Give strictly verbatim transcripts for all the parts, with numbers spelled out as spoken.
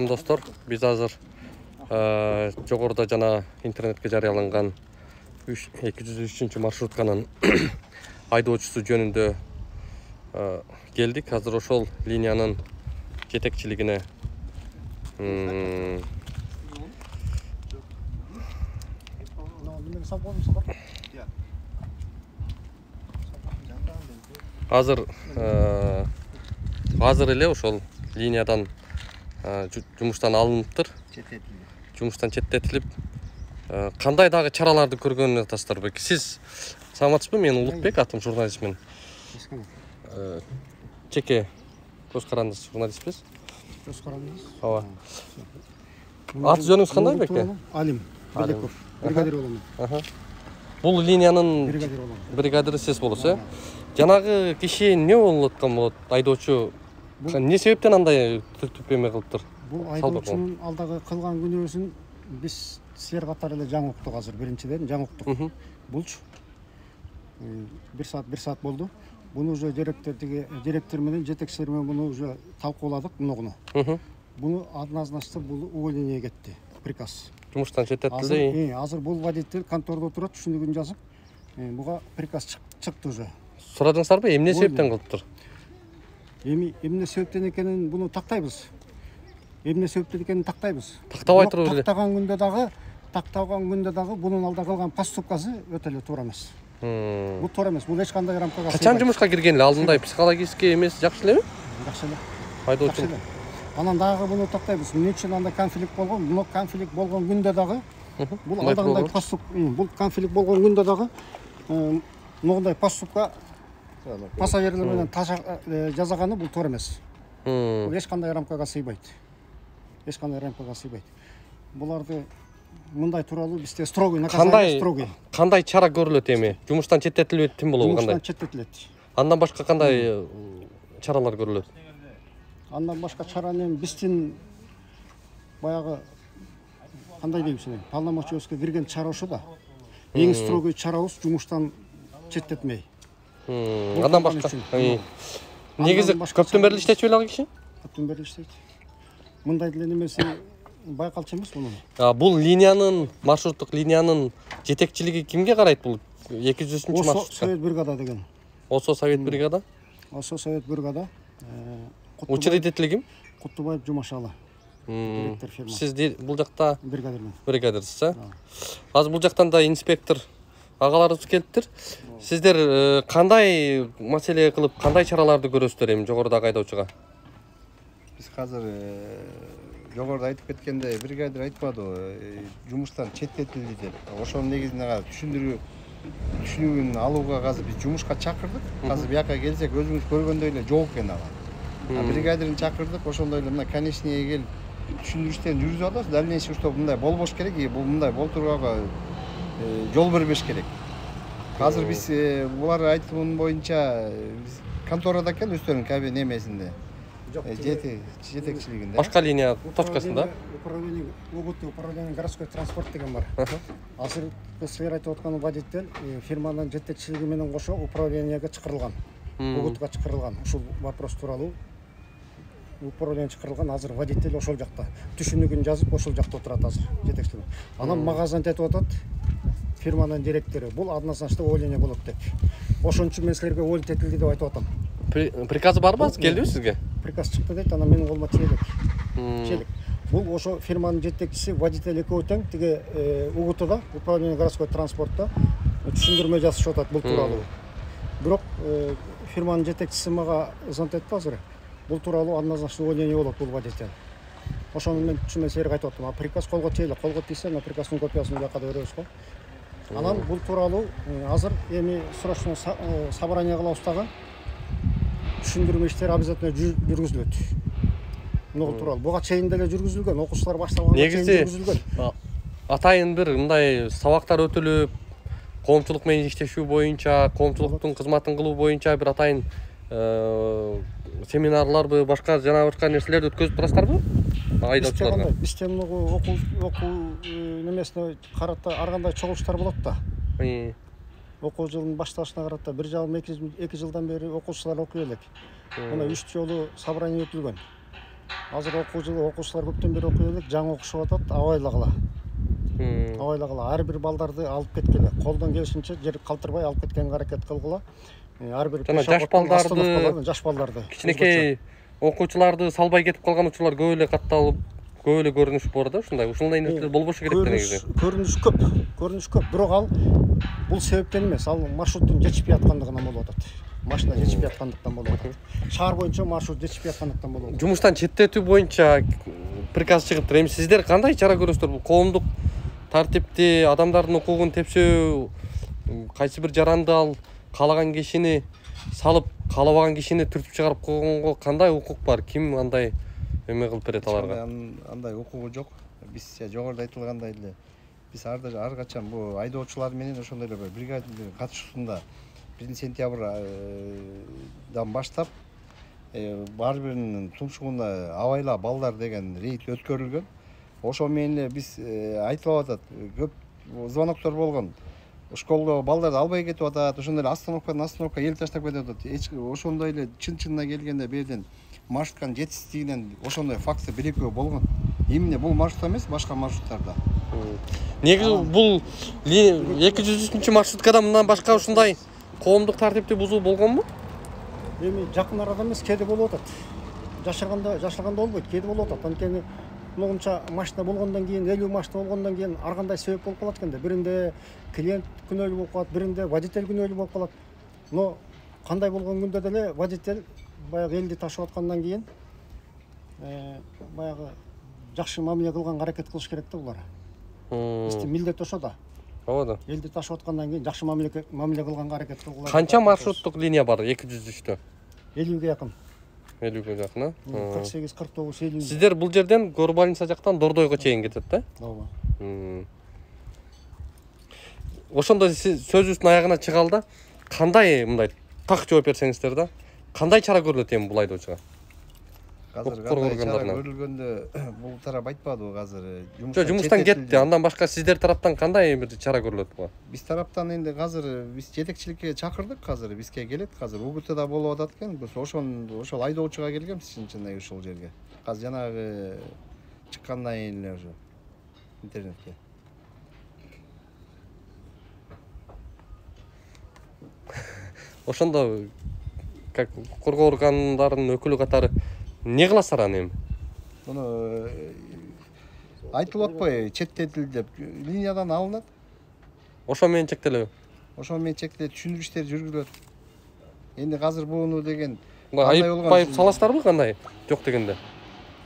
Достор, биз азыр жогоруда жана интернетке жарыяланган эки жүз үчүнчү маршрутканын айдоочусу жөнүндө келдик. Азыр ошол линиянын жетекчилигине азыр азыр эле ошол линиядан жумуштан алыныптыр. Жумуштан четтетилип, кандай дагы чараларды көргөнүн атасыздар белки? Сиз саламатсызбы? Мен Улукбек, атым журналистмин. Чеке көз карандысыз журналистпиз. Көз карандысыз? Ооба. Аты жөнүңүз кандай белки? Алим Белеков, бригадир болом. Бул линиянын бригадир болом. Бригадири сиз болосуз, э? Жанагы киши эмне болуп аткан болот? Айдоочу эмне себептен андай түпеме кылыптыр? Бул айдоочунун алдагы кылган күнөөсүн биз силер катары эле жаңы уктук. Азыр биринчиден жаңы уктук. Булчу бир саат бир саат болду. Буну уже директордуги директор менен жетекчилер менен буну уже талкууладык мунугуну. Буну однозначно бул увольнение кетти. Приказ. Жумуштан четтетилди. Азыр бул водитель контордо отурат, түшүндүгүн жазып, буга приказ чыкты уже. Сурадыңыздарбы, эмне себептен кылыптыр? Эми эмне себептен экенин буну тактайбыз. Эмне себептен экенин тактайбыз. Тактабай туруп эле. Тактаган күндө дагы, тактаган күндө дагы бунун алда кылган поступкасы өтө эле туура эмес. Бул туура эмес. Бул эч кандай рамкага сыйбайт. Качан жумушка кирген эле? Алдындай психологический эмес жакшы элеби? Жакшы эле. Айдоочу. Анан дагы буну тактайбыз. Эмне үчүн анда конфликт болгон? Бул конфликт болгон күндө дагы бул алдагындай поступ, бул конфликт болгон күндө дагы мындай поступка пассажирлер менен жасаганы бул туура эмес. Бул эч кандай рамкага сыйбайт. Эч кандай рамкага сыйбайт. Буларды мындай тууралуу бизде строгий наказание, строгий. Кандай чара көрүлөт эми? Жумуштан четтетилип тим болобу кандай? Жумуштан четтетилет. Андан башка кандай чаралар көрүлөт? Андан башка чараны биздин баягы кандай дейм сени? Полномочиябызга кирген чара ошо да. Эң строгий чарабыз жумуштан четтетмей. Андан башка негизи көптөн бери иштечү беле ал киши? Көптөн бери иштейт. Мындай деле немеси байкалчу эмес мунун. Бул линиянын, маршруттук линиянын жетекчилиги кимге карайт бул эки жүз үчүнчү маршрут? Осо Совет бригада деген. Осо Совет бригада? Осо Совет бригада. Учредители ким? Кутубаев Жумашалы. Директор фирма. Сиз бул жакта бригадирмин. Бригадирсиз, э? Азыр бул жактан да инспектор агаларыбыз келиптир. Сиздер кандай маселе кылып, кандай чараларды көрөсүздөр эми жогорудагы айдоочуга? Биз азыр жогоруда айтып кеткендей, бригадир айтпадыбы, жумуштан четтетилди деп. Ошонун негизинде түшүндүрүү түшүнүгүн алууга азыр биз жумушка чакырдык. Азыр бияка келсек өзүңүз көргөндөй эле жок экен ага. Бригадирин чакырдык, ошондой эле мына конечныйга келип түшүндүрүштөрүн жүргүзүп атабыз. Дальнейший что мындай болбош керек, бул мындай болтурууга жол бербеш керек. Азыр биз булар айтымын боюнча конторада экен өздөрүнүн кабин немесинде. Жетекчилигинде. Башка линия точкасында. Управление УГТ, управление городской транспорт деген бар. Азыр силер айтып аткан водитель фирманын жетекчилиги менен кошо управлениеге чакырылган. УГТга чакырылган. Ушул вопрос тууралуу управление чакырылган. Азыр водитель ошол жакта. Түшүнүгүн жазып ошол жакта отурат азыр жетекчилик. Анан мага айтып атат фирманын директору. Бул однозначно увольнение болот деп. Ошон үчүн мен силерге уволить этилди деп айтып атам. Приказы барбы? Келдиби сизге? Приказ чыкты дейт, анан менин колума тиелек. Тиелек. Бул ошо фирманын жетекчиси водитель экөө тең тиги УГТда, управление городской транспортта түшүндүрмө жазышып атат бул тууралуу. Бирок фирманын жетекчиси мага звонок этти азыр. Бул тууралуу однозначно увольнение болот бул водитель. Ошону мен түшүнбөй силерге айтып аттым. А приказ колго тиелек, колго тийсе, на приказдын копиясын бияка беребиз го. Анан бул тууралуу азыр эми срочно собрание кылабыз дагы. Түшүндүрмө иштери обязательно жүргүзүлөт. Муну тууралуу. Буга чейин деле жүргүзүлгөн, окуучулар башталганга чейин жүргүзүлгөн. Атайын бир мындай сабактар өтүлүп, коомчулук менен иштешүү боюнча, коомчулуктун кызматын кылуу боюнча бир атайын семинарларбы, башка жана башка нерселерди өткөзүп турасыздарбы? Айдоочуларга. Бизде муну окуу окуу немесине карата ар кандай чогулуштар болот да. Окуу жылынын башталышына карата бир жарым эки жылдан бери окуучулар окуй элек. Мына үч жолу собрание өтүлгөн. азыр окуу жылы окуучулар көптөн бери окуй элек, жаңы окушуп атат, абайлагыла. Абайлагыла, ар бир балдарды алып кеткеле, колдон келишинче жер калтырбай алып кеткенге аракет кылгыла. Ар бир жаш балдарды, жаш балдарды, кичинекей окуучуларды салбай кетип калган учурлар көп эле катталып, көп эле көрүнүш бар да, ушундай. Ушундай нерселер болбошу керек да негизи. Көрүнүш көп, көрүнүш көп, бирок ал бул себептен эмес, ал маршруттун жетишпей аткандыгынан болуп атат. Машина жетишпей аткандыктан болуп атат. Шаар боюнча маршрут жетишпей аткандыктан болуп атат. Жумуштан четтетүү боюнча приказ чыгыптыр. Эми сиздер кандай чара көрөсүздөр? Бул коомдук тартипти, адамдардын укугун тепсөө, кайсы бир жаранды ал каалаган кишини салып, каалабаган кишини түртүп чыгарып койгонго кандай укук бар? Ким андай эме кылып берет аларга? Андай укугу жок. Биз жогоруда айтылгандай эле биз ар качан бул айдоочулар менен ошондой эле бригадир катышуусунда биринчи сентябрдан баштап ар биринин тумшугуна абайла балдар деген рейд өткөрүлгөн. Ошо менен эле биз айтылып атат, көп звоноктор болгон. Школдо балдарды албай кетип атат, ошондой эле остановкадан остановка эл таштап кетип атат. Ошондой эле чын-чынына келгенде берден маршрутканын жетишсиздигинен ошондой факты бир-экөө болгон. Эмне бул маршрут эмес, башка маршруттарда. Негизи бул эки жүз үчүнчү маршруткада мындан башка ушундай коомдук тартипти бузуу болгонбу? Эми жакын арада эмес, кээде болуп атат. Жашырганда, жашырганда болбойт, кээде болуп атат. Анткени мынча машина болгондон кийин, элүү машина болгондон кийин ар кандай себеп болуп калат экен да. Биринде клиент күнөөлүү болуп калат, биринде водитель күнөөлүү болуп калат. Но кандай болгон күндө деле водитель баягы элди ташып аткандан кийин баягы жакшы мамиле кылганга аракет кылыш керек да булар. Биздин милдет ошо да. Ооба да. Элди ташып аткандан кийин жакшы мамиле мамиле кылганга аракет кылгыла. Канча маршруттук линия бар эки жүз үчтө? элүүгө жакын. элүүгө жакын, а? кырк сегиз, кырк тогуз, элүү. Сиздер бул жерден Горбаница жактан Дордойго чейин кетет да? Ооба. Ошондо сиз сөзүбүздүн аягына чыгалда кандай мындай так жооп берсеңиздер да, кандай чара көрүлөт эми бул айдоочуга? Азыр кандай чара көрүлгөндө бул тарап айтпадыбы азыр. Жок, жумуштан кетти. Андан башка сиздер тараптан кандай бир чара көрүлөт буга? Биз тараптан энди азыр биз жетекчиликке чакырдык, азыр бизге келет. Азыр УГТда болуп атат экен. Биз ошон ошол айдоочуга келгенбиз чын-чынында ушул жерге. Азыр жанагы чыккандан кийин эле ошо интернетке. Ошондо как коргоо органдарынын өкүлү катары не кыласыздар аны эми? Муну айтылып атпайбы, четтетилди деп линиядан алынат. Ошо менен чектелеби? Ошо менен чектелет, түшүндүрүү иштери жүргүзүлөт. Энди азыр буну деген айып саласыздарбы кандай? Жок дегенде.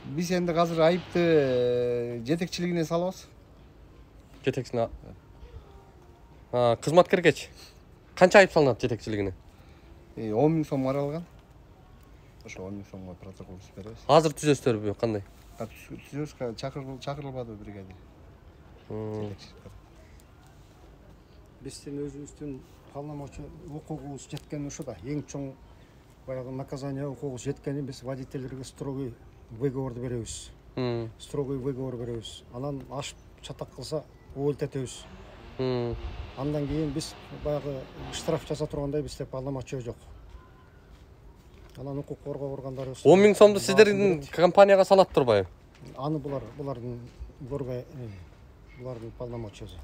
Биз энди азыр айыпты жетекчилигине салабыз. Жетекчине. А, кызматкергечи. Канча айып салынат жетекчилигине? он миң сом каралган. Ошо он миң сомго протокол түзүп беребиз. Азыр түзөсүздөрбү, кандай? Түзөбүз, чакырылбады бригадир. Биздин өзүбүздүн полномочия укугубуз жеткен ошо да. Эң чоң баягы наказание укугубуз жеткенин биз водительдерге строгий выговор беребиз. Строгий выговор беребиз. Анан ашып чатак кылса өлтөтөбүз. Андан кийин биз баягы штраф жаза тургандай бизде полномочия жок. Анан укук коргоо органдары он миң сомду сиздердин компанияга салат турбайбы? Аны булар булардын көргөй булардын полномочиясы.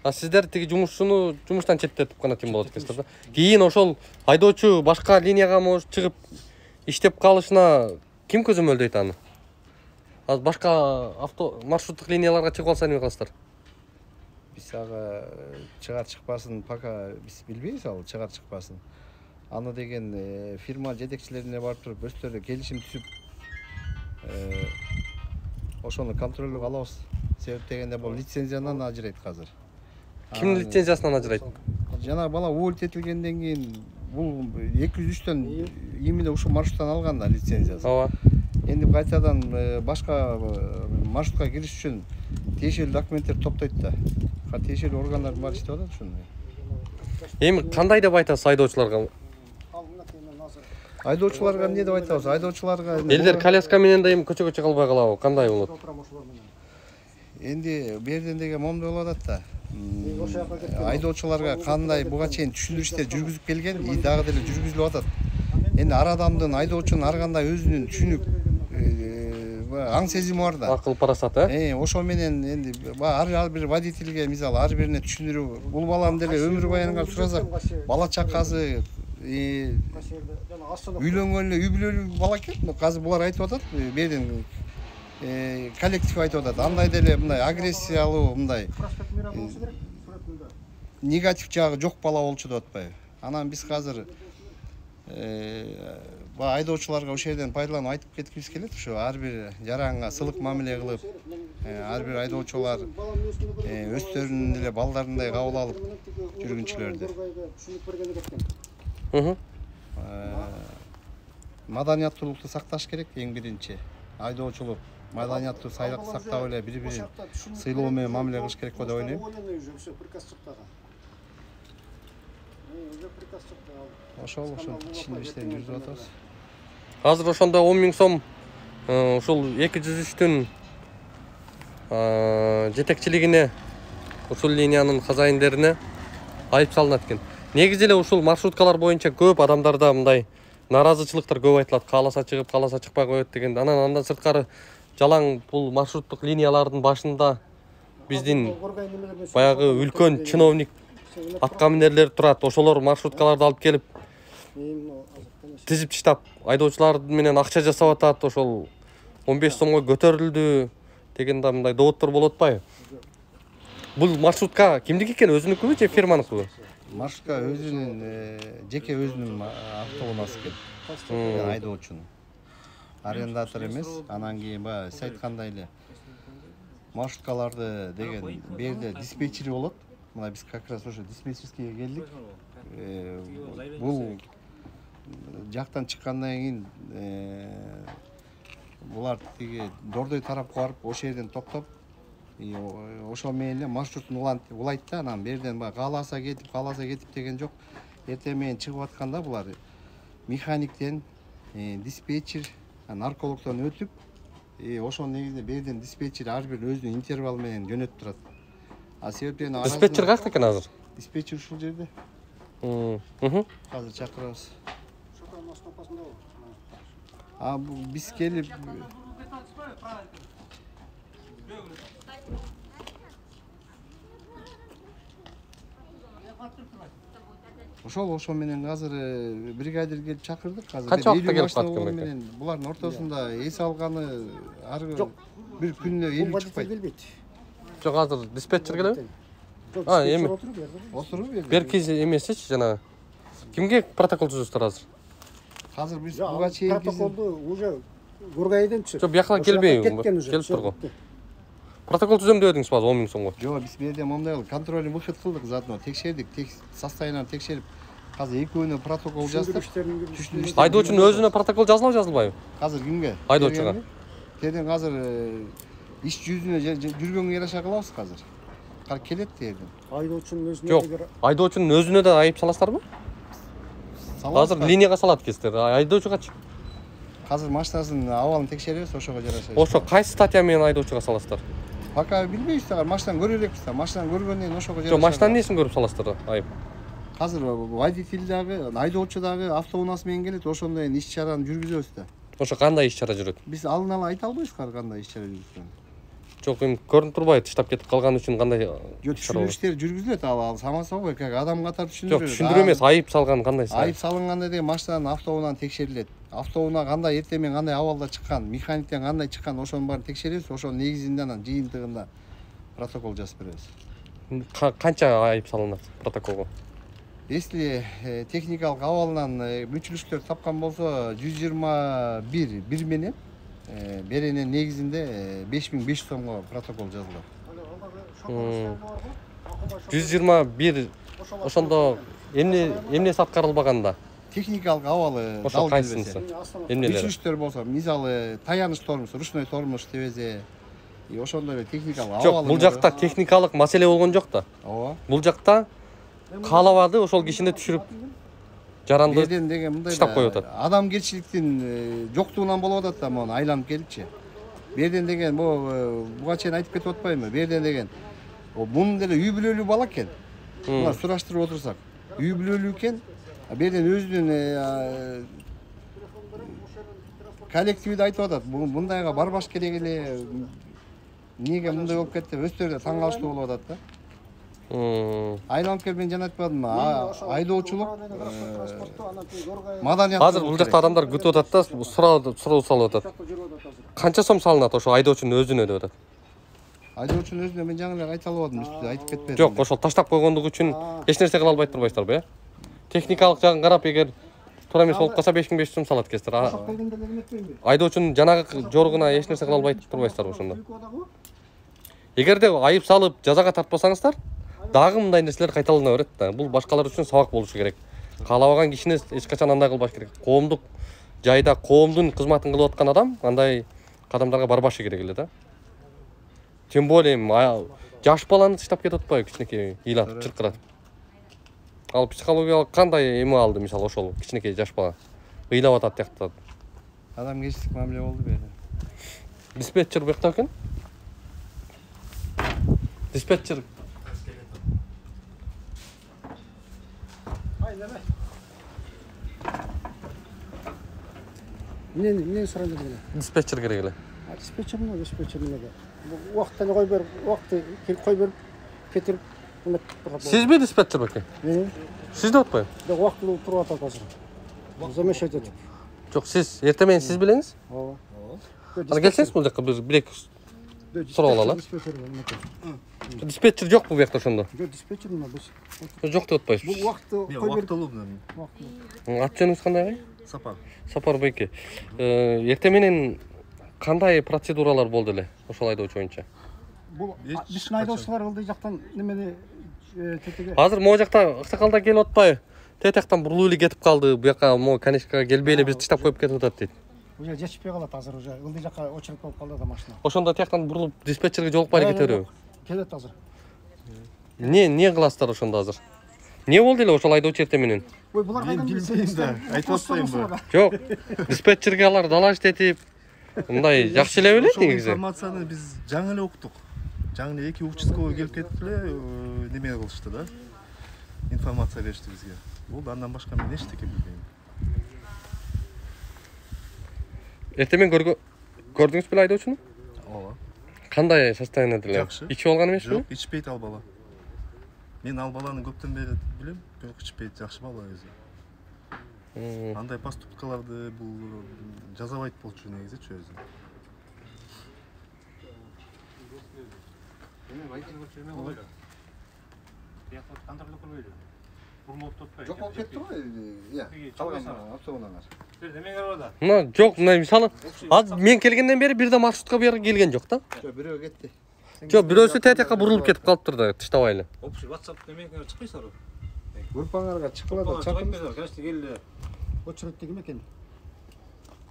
А сиздер тиги жумушчуну жумуштан четтетип гана тим болот экенсиздер да. Кийин ошол айдоочу башка линияга может чыгып иштеп калышына ким көзөмөлдөйт аны? Азыр башка авто маршруттук линияларга чыгып алса эмне кыласыздар? Биз ага чыгар чыкпасын пока биз билбейбиз, ал чыгар чыкпасын. Аны деген фирма жетекчилерине барып туруп өздөрү келишим түзүп ошону контролдоого алабыз. Себеп дегенде бул лицензиядан ажырайт азыр. Кимдин лицензиясынан ажырайт? Жана бала өлтөтүлгөндөн кийин бул эки жүз үчтөн именно ушул маршруттан алган да лицензиясын. Ооба. Энди кайтадан башка маршрутка кириш үчүн тиешелүү документтер топтойт да. Тиешелүү органдар бар иштеп атат ушуну. Эми кандай деп айтасыз айдоочуларга? Айдоочуларга эмне деп айтабыз? Айдоочуларга элдер коляска менен да эми көчөгө чыга албай калабы? Кандай болот? Энди берден деген момдой болуп атат да. Айдоочуларга кандай буга чейин түшүндүрүү иштери жүргүзүп келген, и дагы деле жүргүзүлүп атат. Энди ар адамдын айдоочунун ар кандай өзүнүн түшүнүк аң сезими бар да. Акыл парасат, э? Э, ошо менен энди ар бир водительге мисалы ар бирине түшүндүрүп, бул баланы деле өмүр баянга сурасак, бала чакасы, үйлөнгөн эле үй бүлөлүү бала экен. Азыр булар айтып атат, берден коллектив айтып атат. Андай деле мындай агрессиялуу, мындай негатив жагы жок бала болчу деп атпайбы. Анан биз азыр баягы айдоочуларга ошол жерден пайдаланып айтып кеткибиз келет. Ошо ар бир жаранга сылык мамиле кылып, ар бир айдоочулар өздөрүнүн деле балдарындай кабыл алып жүргүнчүлөрдү. Маданияттуулукту сакташ керек эң биринчи. Айдоочулук маданияттуу сактап эле бири-бирин сыйлоо менен мамиле кылыш керек го деп ойлойм. Ошол ошол ишин жүргүзүп атабыз. Азыр ошондо он миң сом ушул эки жүз үчтүн жетекчилигине, ушул линиянын хозяиндерине айып салынат экен. Негизи эле ушул маршруткалар боюнча көп адамдарда мындай наразычылыктар көп айтылат. Кааласа чыгып, кааласа чыкпай коет деген. Анан андан сырткары жалаң бул маршруттук линиялардын башында биздин баягы үлкөн чиновник аткаминерлер турат. Ошолор маршруткаларды алып келип тизип таштап айдоочулар менен акча жасап атат. Ошол он беш сомго көтөрүлдү деген да мындай доводдор болуп атпайбы? Бул маршрутка кимдики экен, өзүнүкүбү же фирманыкыбы? Маршрутка өзүнүн жеке өзүнүн автоунаасы экен. Айдоочунун. Арендатор эмес. Анан кийин баягы сиз айткандай эле маршруткаларды деген берде диспетчери болот. Мына биз как раз ошо диспетчерскийге келдик. Бул жактан чыккандан кийин булар тиги Дордой тарапка барып, ошол жерден токтоп, ошол менен эле маршрутун улайт да, анан берден баягы кааласа кетип, кааласа кетип деген жок. Эртең менен чыгып атканда булар механиктен, диспетчер, наркологдон өтүп, ошол негизинде берден диспетчер ар бир өзүнүн интервал менен жөнөтүп турат. А себептен диспетчер кайякта экен азыр? Диспетчер ушул жерде. Азыр чакырабыз. А биз келип ошол ошол менен азыр бригадир келип чакырдык. Азыр канча убакытта келип калат экен? Булардын ортосунда эс алганы ар бир күнүнө элүү чыкпайт. Жок, азыр диспетчер келеби? А, эми отуруп берди. Беркиз эмесичи жанагы. Кимге протокол түзөсүздөр азыр? Азыр биз буга чейин протоколду уже Гургайдан түшүп. Жок, бияка келбейби? Келип тургу. Протокол түзөм деп едиңиз базы он миң сомго. Жок, биз берде момундай контрольный выход кылдык, заодно текшердик, состоянияларын текшерип, азыр экөөнө протокол жаздык. Айдоочунун өзүнө протокол жазылабы, жазылбайбы? Азыр кимге? Айдоочуга. Теден азыр иш жүзүнө жүргөнгө яраша кылабыз азыр. Кар келет дедим. Айдоочунун өзүнө жок, айдоочунун өзүнө да айып саласыздарбы? Азыр линияга салат экенсиздер, айдоочугачы? Азыр машинасынын абалын текшеребиз, ошого жараша. Ошо кайсы статья менен айдоочуга саласыздар? Пока билбейбиз да, машинаны көрө элекпиз да. Машинаны көргөндөн кийин ошого жараша. Жок, машинанын несин көрүп саласыздар айып? Азыр водитель дагы, айдоочу дагы автоунаасы менен келет, ошондой иш чараны жүргүзөбүз да. Ошо кандай иш чара жүрөт? Биз алын ала айта албайбыз кандай иш чара жүргүзгөнүн. Жок, эми көрүнүп турбайбы таштап кетип калган үчүн кандай түшүндүрүштөр жүргүзүлөт, ал самаса го, как адам катары түшүндүрөт. Жок, түшүндүрүү эмес, айып салган кандай? Айып салынганда деген машинанын автоунаа текшерилет. Автоунаа кандай эртең менен кандай абалда чыккан, механиктен кандай чыккан, ошонун баарын текшеребиз, ошонун негизинде анан жыйынтыгында протокол жазып беребиз. Канча айып салынат протоколго? Если техникалык абалынан мүчүлүштөр тапкан болсо жүз жыйырма бир бир менен беренин негизинде беш миң беш жүз сомго протокол жазылат. жүз жыйырма бир ошондо эмне эмнеси аткарылбаганда? Техникалык абалы дал келбесе. Эмнелери? Мүчүлүштөр болсо, мисалы таяныч тормоз, ручной тормоз тебезе, и ошондой эле техникалык абалы. Жок, бул жакта техникалык маселе болгон жок да. Ооба. Бул жакта каалабады, ошол кишини түшүрүп жаранды таштап коюп атат. Адамгерчиликтин жоктугунан болуп атат да, мону айланып келипчи. Берден деген бу буга чейин айтып кетип атпаймынбы? Берден деген мунун деле үй бүлөлүү бала экен. Мына сураштырып отурсак, үй бүлөлүү экен. Берден өзүнүн коллективде айтып атат. Мындайга барбаш керек эле. Эмнеге мындай болуп кетти деп өздөрү да таң калыштуу болуп атат да. Айланып келип мен жана айтпадымбы, айдоочулук маданият. Азыр бул жакта адамдар күтүп атат да, суроо суроо салып атат. Канча сом салынат ошо айдоочунун өзүнө деп атат. Айдоочунун өзүнө мен жаңы эле айта албадым, үстү айтып кетпедим. Жок, ошол таштап койгондугу үчүн эч нерсе кыла албай турбайсыздарбы, э? Техникалык жагын карап, эгер туура эмес болуп калса беш миң беш жүз сом салат экенсиздер. Айдоочунун жанагы жоругуна эч нерсе кыла албай турбайсыздарбы ошондо? Эгерде айып салып жазага тартпасаңыздар, дагы мындай нерселер кайталана берет да. Бул башкалар үчүн сабак болушу керек. Каалабаган кишине эч качан андай кылбаш керек. Коомдук жайда коомдун кызматын кылып аткан адам андай кадамдарга барбашы керек эле да. Тем более жаш баланы таштап кетип атпайбы, кичинекей ыйлатып, чыркыратып. Ал психологиялык кандай эме алды, мисалы ошол кичинекей жаш бала ыйлап атат тияктат. Адамгерчилик мамиле болду бери. Диспетчер бuyakta экен. Диспетчер. Эмне эмне сурайын эле? Диспетчер керек эле. Диспетчер эмне, диспетчер эмнеге? Убакытта эле кой берип, убакытты келип кой берип, кетирип эметип турат. Сизби диспетчер беке? Мен. Сиз деп атпайбы? Бирок убактылуу туруп атат азыр. Замешать этип. Жок, сиз эртең менен сиз билеңиз. Ооба. Ана келсеңиз бул жака биз бир эки сурап алалы. Диспетчер жок бул бuyakта ошондо. Жок, диспетчер эмне биз? Жок деп атпайсызбы? Бул убакытты кой берип. Убактылуу. Ат жөнүңүз кандай? Сапар. Сапар беке. Эртең менен кандай процедуралар болду эле ошол айдоочу боюнча? Бул биздин айдоочулар ылдый жактан немени тетеге. Азыр могу жакта аксакалдар келип атпайбы? Тетектен бурулуп эле кетип калды. Буяка могу конечкага келбей эле бизди таштап коюп кетип атат дейт. Уже жетишпей калат азыр, уже ылдый жакка очередь болуп калды да машина. Ошондо тияктан бурулуп диспетчерге жолукпай эле кете береби? Келет азыр. Не, не кыласыздар ошондо азыр? Не болду эле ошол айдоочу эртең менен? Ой, булар кайдан билбейм да, айтып атпаймынбы? Жок, диспетчерге алар далаш этип, мындай жакшы эле белет негизи. Информацияны биз жаңы эле уктук. Жаңы эле эки участкага келип кетип эле неме кылышты да. Информация беришти бизге. Бул андан башка мен эчтеке билбейм. Эртең менен көрдүңүз беле айдоочуну? Ооба. Кандай состояниеде эле? Жакшы. Ичип алган эмеспи? Жок, ичпейт ал бала. Мен ал баланы көптөн бери билем, бирок ичпейт, жакшы бала өзү. Андай поступкаларды бул жазабайт болчу негизичи өзү. Жок болуп кетти го. Ия, калган автобуслар. Мына жок, мына мисалы азыр мен келгенден бери бир да маршрутка бери келген жок да. Жок, бирөө кетти. Жок, бирөөсү тетекке бурулуп кетип калыптыр да, тыштабай эле. Общий WhatsApp немеге чыкпайсыздарбы? Группаңарга чыккыла чакырып. Конечно, келди. Очередте ким экен?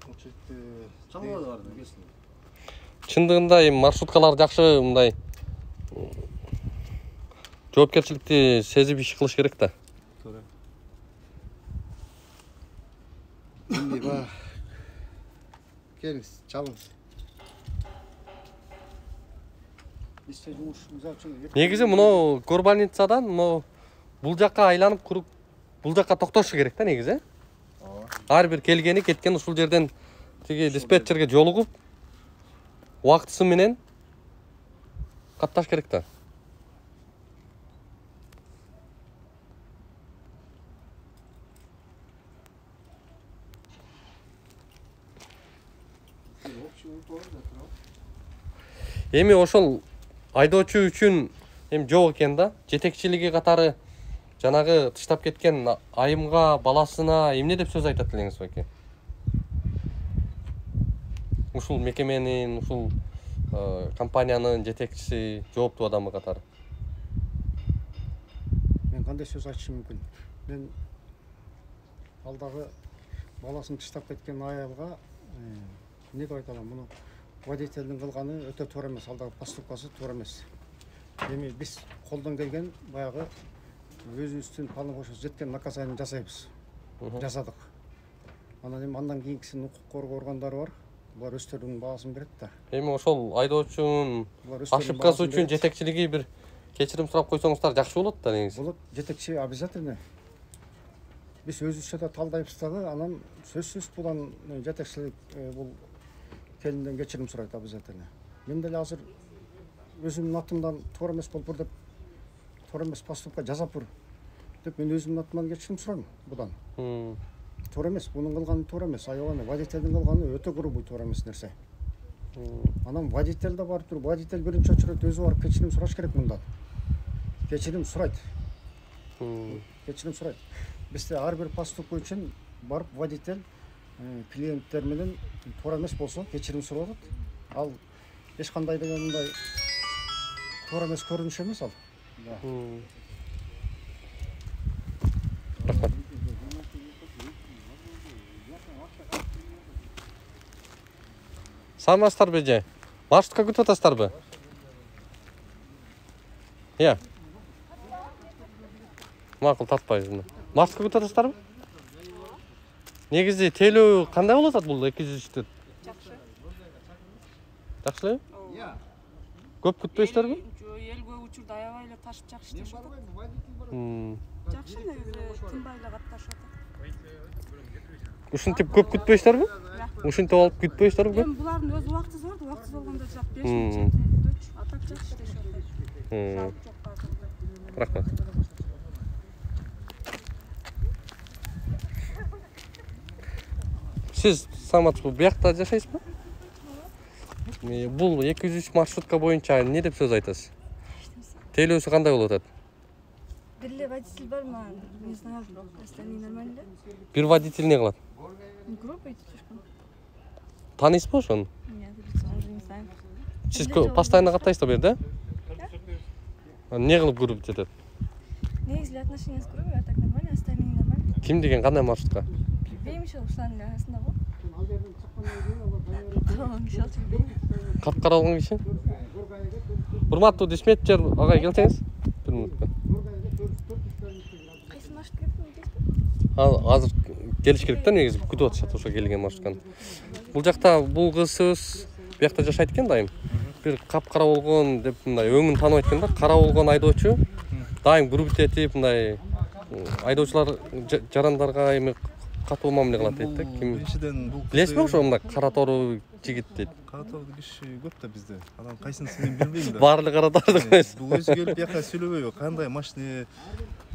Очередте Чалбады барды, келсин. Чындыгында эми маршруткалар жакшы мындай жоопкерчиликти сезип иш кылыш керек да. Туура. Эмне ба? Келиңиз, чалыңыз. Негизи мына горбольницадан мына бул жакка айланып куруп бул жакка токтошу керек да негизи. Ооба. Ар бир келгени кеткен ушул жерден тиги диспетчерге жолугуп убактысы менен катташ керек да. Эми ошол айдоочу үчүн эми жок экен да. Жетекчилиги катары жанагы тыштап кеткен айымга, баласына эмне деп сөз айтат элеңиз беке? Ушул мекеменин, ушул компаниянын жетекчиси, жооптуу адамы катары. Мен кандай сөз айтышым мүмкүн? Мен алдагы баласын тыштап кеткен аялга эмне деп айта алам? Муну водительдин кылганы өтө туура эмес, алдагы поступкасы туура эмес. Эми биз колдон келген баягы өзүбүздүн полномочия жеткен наказание жасайбыз. Жасадык. Анан эми андан кийинкисин укук коргоо органдары бар. Булар өздөрүнүн баасын берет да. Эми ошол айдоочунун ошибкасы үчүн жетекчилиги бир кечирим сурап койсоңуздар жакшы болот да негизи. Болот, жетекчи обязательно. биз өзүбүзчө да талдайбыз дагы, анан сөзсүз булан жетекчилик бул келинден кечирим сурайт обязательно. Мен деле азыр өзүмдүн атымдан туура эмес болуптур деп, туура эмес поступка жасаппыр деп мен өзүмдүн атымдан кечирим сурайм будан. Туура эмес, мунун кылганы туура эмес, аябай водительдин кылганы өтө грубый туура эмес нерсе. Анан водитель да барып туруп, водитель биринчи очередь өзү барып кечирим сураш керек мындан. Кечирим сурайт. Кечирим сурайт. Бизде ар бир поступка үчүн барып водитель клиенттер менен туура эмес болсо кечирим сурап атат. Ал эч кандай деген мындай туура эмес көрүнүш эмес ал. Рахмат. Саламатсыздарбы эже? Маршрутка күтүп атасыздарбы? Иә. Макул тартпайбыз. Маршрутка күтүп атасыздарбы? Негизи тейлөө кандай болуп атат бул эки жүз үчтөр? Жакшы. Жакшы? Көп күтпөйсүздөрбү? Жок, эл көп учурда аябай эле ташып жакшы иштешип атат. Жакшы негизи тынбай эле катташып атат. Ушинтип көп күтпөйсүздөрбү? Ушинтип алып күтпөйсүздөрбү? Эми булардын өз убактысы бар, убактысыз болгондо жак беш мүнөт жети мүнөт, а так жакшы иштешип атат. Жалп жок азыр. Рахмат. Сиз саламатсызбы? Буякта жашайсызбы? Бул эки жүз үч маршрутка боюнча эмне деп сөз айтасыз? Тейлөөсү кандай болуп атат? Бир эле водитель бармы? Не знаю, остальные нормально. Бир водитель не кылат? Группа идет слишком. Тааныйсызбы ошону? Нет, уже не знаю. Сиз постоянно каттайсызбы бу жерде? Да. Эмне кылып көрүп жетет? Негизи отношения с группой, а так нормально, остальные нормально. Ким деген кандай маршрутка? Билбейм иши ушулардын арасында го. Капкаралган киши алчу билбейм. Капкаралган киши? Урматтуу диспетчер агай келсеңиз. Бир мүнөткө. Кайсы маршрут кетти дейсизби? Азыр келиш керек да, негизи күтүп атышат ошо келген маршрутканы. Бул жакта бул кызыбыз буякта жашайт экен дайым. Бир капкара болгон деп мындай өңүн тааныбайт экен да, кара болгон айдоочу. Дайым групп этип мындай айдоочулар жарандарга эми катуу мамиле кылат дейт да. Ким? Биринчиден бул Билесизби ошо мындай кара тору жигит дейт. Кара тору киши көп да бизде. Анан кайсынысын мен билбейм да. Баары кара тору койсуз. Бул өзү келип бияка сүйлөбөйбү? Кандай машина?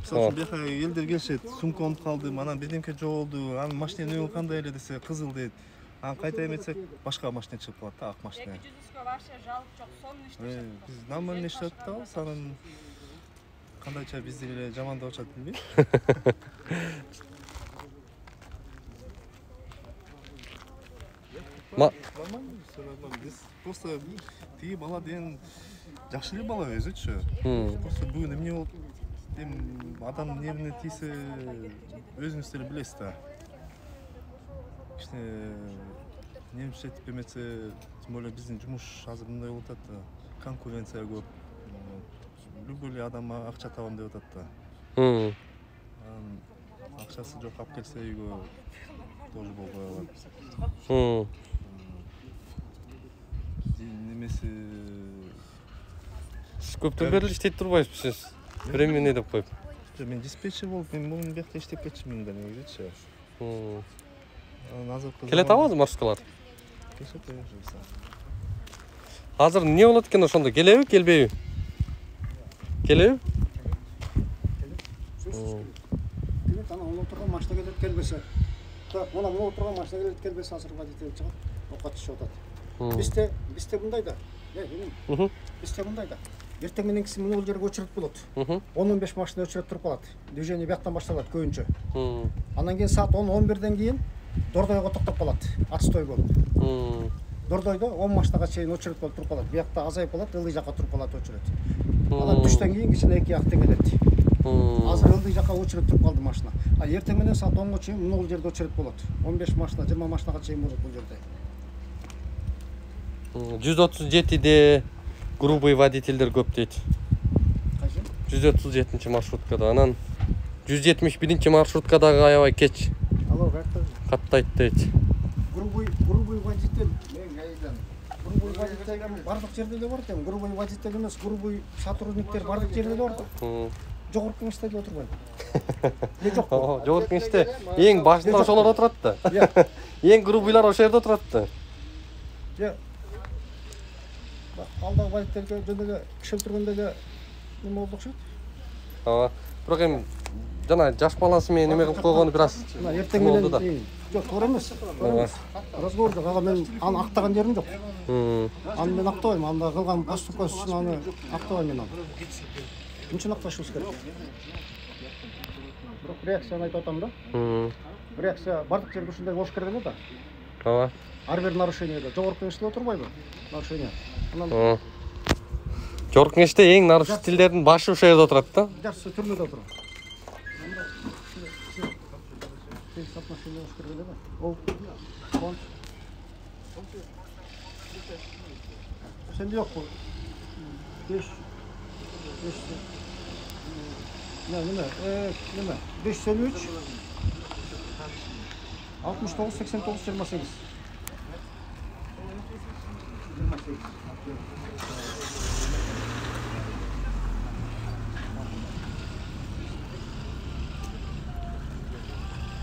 Мисалы бияка элдер келишет, сумка унутуп калдым, анан бирдемке жоголду, анын машинанын өңү кандай эле десе, кызыл дейт. Анан кайта эметсек, башка машина чыгып калат да, ак машина. эки жүз үчкө вообще жалп жок, сонун иштешет. Биз нормально иштеп атабыз, анан кандайча бизди эле жамандап атышат билбейм. Нормально, всё нормально. Биз просто тиги бала деген жакшы эле бала өзүчү. Просто бүгүн эмне болуп, эми адам эмне менен тийсе өзүңүз деле билесиз да. Кичине немче этип эметсе, тем более биздин жумуш азыр мындай болуп атат да. Конкуренция көп. Любой эле адам акча табам деп атат да. Анан акчасы жок алып келсе үйгө тоже болбой калат. Немеси Сиз көптөн бери иштейт турбайсызбы сиз? Временный деп коюп. Мен диспетчер болуп, мен бул бияқта иштеп кетчимин да негизичи. Анан азыр келет абы маршруткалар? Келет, келет. Азыр эмне болот экен ошондо? Келеби, келбейби? Келеби? Келет, анан он отурган машина келет, келбесе. Так, мына он отурган машина келет, келбесе азыр водитель чыгат, окка түшүп атат. Бизде, бизде мындай да. Бизде мындай да. Эртең мененкиси мына бул жерге очередь болот. он он беш машина очередь туруп калат. Движение бияктан башталат көбүнчө. Андан кийин саат он он бирден кийин Дордойго токтоп калат. Отстой болуп. Дордойдо он машинага чейин очередь болуп туруп калат. Биякта азайып калат, ылдый жакка туруп калат очередь. Анан түштөн кийин кичине эки актен келет. Азыр ылдый жакка очередь туруп калды машина. А эртең менен саат онго чейин мына бул жерде очередь болот. он беш машина, жыйырма машинага чейин болот бул жерде. жүз отуз жетиде грубый водительдер көп дейт. Кайсы? жүз отуз жетинчи маршруткада, анан жүз жетимиш биринчи маршруткадагы аябай кеч Алло, кайтты. каттайт дейт. Грубый, грубый водитель. Грубый водитель бардык жерде эле бар экен. Грубый водитель эмес, грубый сотрудниктер бардык жерде эле бар да. жогорку кеңеште эле отурбайбы? Же жокпу? Жогорку кеңеште эң башында ошолор отурат да. Эң грубыйлар ошол жерде отурат да. Же алдагы водительге жөн эле киши өлтүргөндө эле неме болду окшойт. Ооба. Бирок эми жана жаш баласы менен неме кылып койгону бир аз. Мына эртең менен жок, туура эмес. Разговор жок. Ага мен аны актаган жерим жок. Аны мен актабайм. Анда кылган поступкасы үчүн аны актабайм мен аны. Мынча акташыбыз керек. Бирок реакцияны айтып атам да. Реакция бардык жерде ушундай болуш керек эле да. Ооба. Ар бир нарушениеде жогорку кеңеште отурбайбы? Нарушение. Анан жогорку кеңеште эң нарушительдердин башы ошол жерде отурат да. Жакшы түрмөдө отурат. Отношение болуш керек эле да. Ол сенде жокпу? беш беш неме? Э, неме? беш жүз элүү үч алтымыш тогуз сексен тогуз жыйырма сегиз.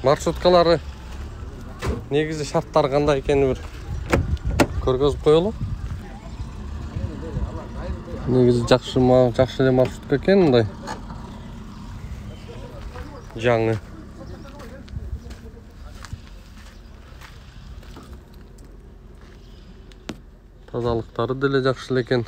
Маршруткалары негизи шарттары кандай экени бир көргөзүп коелу. Негизи жакшы жакшы эле маршрутка экен, мындай жаңы. Тазалыктары деле жакшы эле экен.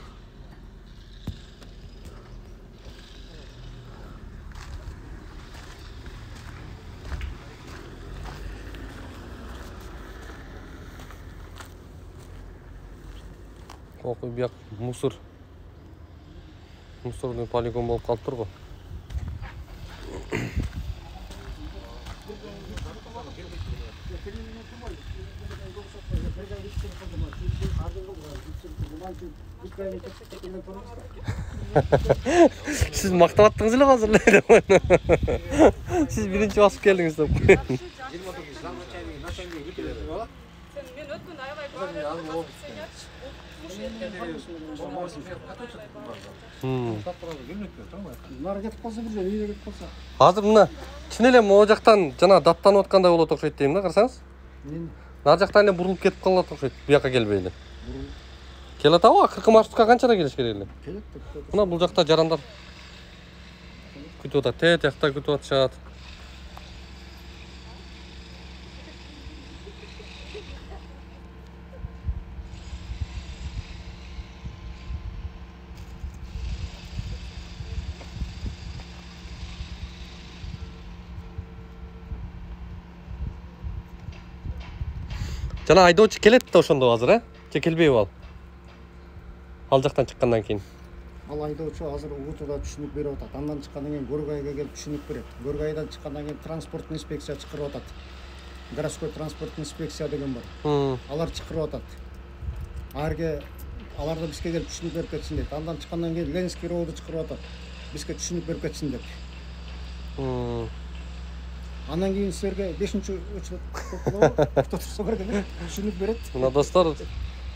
Окуй бияк мусор. Мусорный полигон болуп калыптыр го. Siz мактап аттыңыз эле азыр эле. Siz биринчи басып келдиңиз деп коеюн. Мен өткөн аябай баа. Нары кетип калса бир жер, үйгө кетип калса. Азыр мына чын эле могу жактан жана даттанып аткандай болот окшойт дейм да, карасаңыз. Нар жактан эле бурулуп кетип калат окшойт, бияка келбей эле. Келет аба, акыркы маршрутка канчада келиш керек эле? Келет. Мына бул жакта жарандар күтүп атат, тет жакта күтүп атышат. Жана айдоочу келет да ошондо азыр, э? Же келбейби ал? Ал жактан чыккандан кийин. Ал айдоочу азыр Угутуда түшүнүк берип атат. Андан чыккандан кийин Горгайга келип түшүнүк берет. Горгайдан чыккандан кийин транспорттун инспекция чакырып атат. Городской транспорттун инспекция деген бар. Алар чакырып атат. Арге алар да бизге келип түшүнүк берип кетсин дейт. Андан чыккандан кийин Ленинский роуду чакырып атат. Бизге түшүнүк берип кетсин деп. Андан кийин силерге бешинчи өчүрөт турса керек эле. Түшүнүк берет. Мына достор,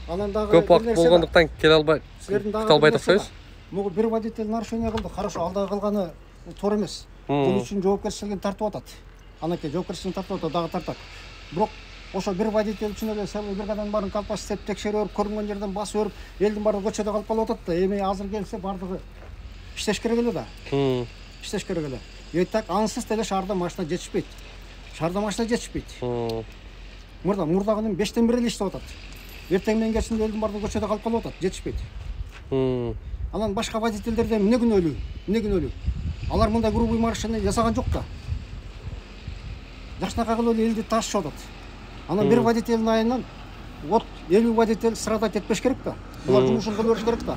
анан дагы көп убакыт болгондуктан келе албай, күтө албай атпайбыз. Могу бир водитель нарушение кылды. Хорошо, алдагы кылганы туура эмес. Бул үчүн жоопкерчилигин тартып атат. Анакей жоопкерчилигин тартып атат, дагы тартат. Бирок ошо бир водитель үчүн эле сабый биргадан баарын калпас издеп текшерип өөрүп, көрүнгөн жерден басып өөрүп, элдин баары көчөдө калып калып атат да. Эми азыр келсе бардыгы иштеш керек эле да. Иштеш керек эле. И так ансыз деле шаарда машина жетишпейт. Шаарда машина жетишпейт. Мурда мурдагынын бештен бир эле иштеп атат. Эртең менен кечинде элдин баары көчөдө калып калып атат, жетишпейт. Анан башка водительдерде эмне күнөөлүү? Эмне күнөөлүү? Алар мындай грубый нарушение жасаган жок да. Жакшынакай кылып эле элди ташып атат. Анан бир водительдин айынан вот элүү водитель страдать этпеш керек да. Булар жумушун кыла бериш керек да.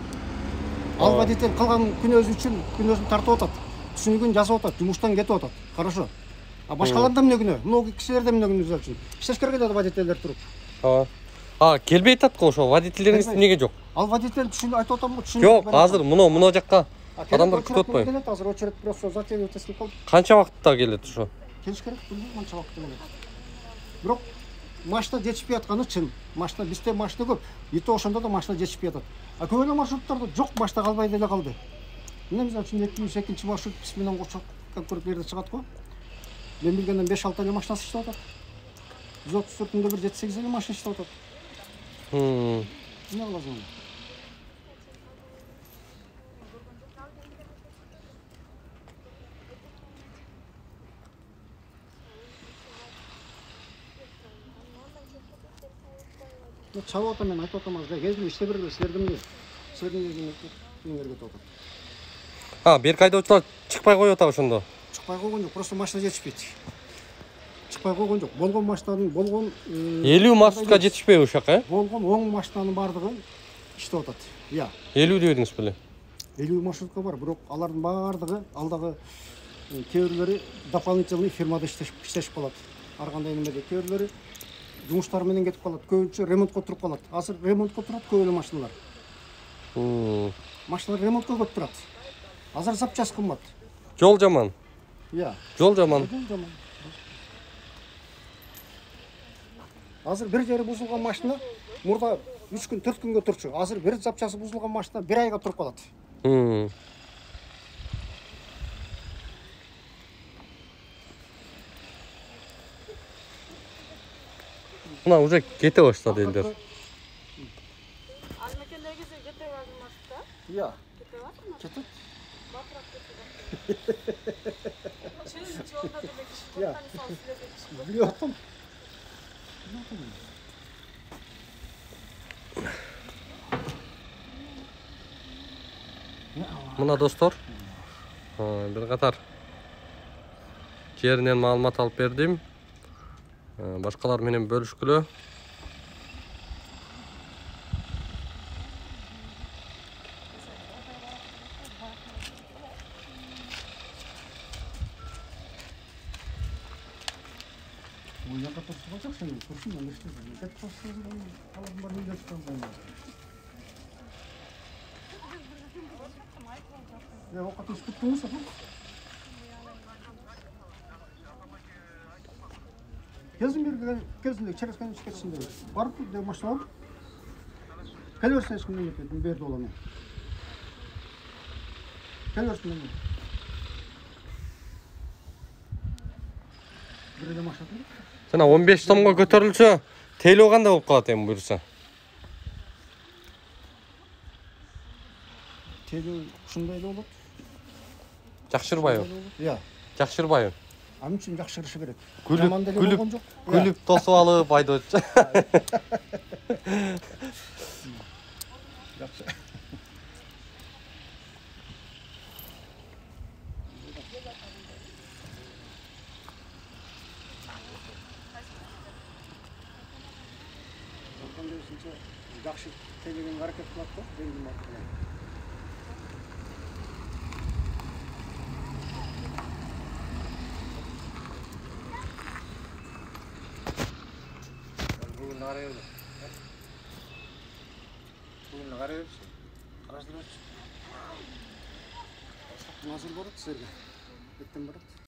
Ал водитель кылган күнөөсү үчүн күнөөсүн тартып атат. Түшүнүгүн жазып атат, жумуштан кетип атат. Хорошо. А башкаларда эмне күнөө? Мына кишилерде эмне күнөө үчүн? Иштеш керек эле водительдер туруп. Ооба. А, келбей атат го ошо водительдериңиз эмнеге жок? Ал водитель түшүнүп айтып атам го, түшүнүп. Жок, азыр муну муну жакка адамдар күтүп атпайбы? Келет азыр очередь просто затейлеп тескип калды. Канча убакытта келет ошо? Келиш керек, билбейм канча убакытта келет. Бирок машина жетишпей атканы чын. Машина бизде машина көп. Ите ошондо да машина жетишпей атат. А көп эле маршруттарда жок, машина калбай деле калды. мына мисалы үчүн эки жүз экинчи маршрут биз менен кошо конкурс берде чыгат го. Мен билгенден беш алты эле машинасы иштеп атат. жүз отуз төртүндө бир жети сегиз эле машина иштеп атат. Хм. Эмне кыласың? Чабып атам, мен айтып атам, азыр кезип иште бергиле, силердин эмне? Силердин эмнеңерге кетип атат. А, берки айдоочулар чыкпай коюп атабы ошондо? Чыкпай койгон жок, просто машина жетишпейт. Чыкпай койгон жок. Болгон машинанын, болгон элүү маршрутка жетишпейби ушул жака, э? болгон он машинанын бардыгы иштеп атат. Иә. элүү дедиңиз беле? элүү маршрутка бар, бирок алардын бардыгы алдагы кээ бирлери дополнительный фирмада иштешип калат. Ар кандай немеде кээ бирлери жумуштар менен кетип калат. Көбүнчө ремонтко туруп калат. Азыр ремонтко турат көп эле машиналар. Хм. Машиналар ремонтко көп турат. Азыр запчасть кымбат. Жол жаман. Иә. Жол жаман. Жол жаман. Азыр бир жери бузулган машина мурда үч күн, төрт күнгө турчу. Азыр бир запчасы бузулган машина бир айга туруп калат. Хм. Мына уже кете баштады элдер. Алмекендегиси кете бардымакта? Иә. Кете бардымы? Кетет. Батыраак кетти. Чын жолда деле киши Иә. кылган мисалы силерге киши Билип атам. Мына достор, бир катар жеринен маалымат алып бердим. Башкалар менен бөлүшкүлө. Бул жака турсун болсок, сен турсун, мен иштейм. Кетип калсаң, алардын баарын үйлөп чыгам. Я окат иштеп турсун. Кезин берген, кезинде через конец кетсин деп. Барып деп машина. Келе берсең эчкимден кетет, мен берди болом. Келе берсин мен. Бир эле машина. Жана он беш сомго көтөрүлсө, тейлөө кандай болуп калат эми буюрса? Тейлөө ушундай эле болот. Жакшырбайбы? Иә. Жакшырбайбы? Ам үчүн жакшырышы керек. Күлүп, Жаман деле күлүп, болгон жок. күлүп тосуп алып айдоочу. Жакшы тейлегенге аракет кылат го, деңгим аркылуу. Bugün arayalım. Bugün arayalım. Araştırıyoruz. Назыр барат силерге. Ертең барат.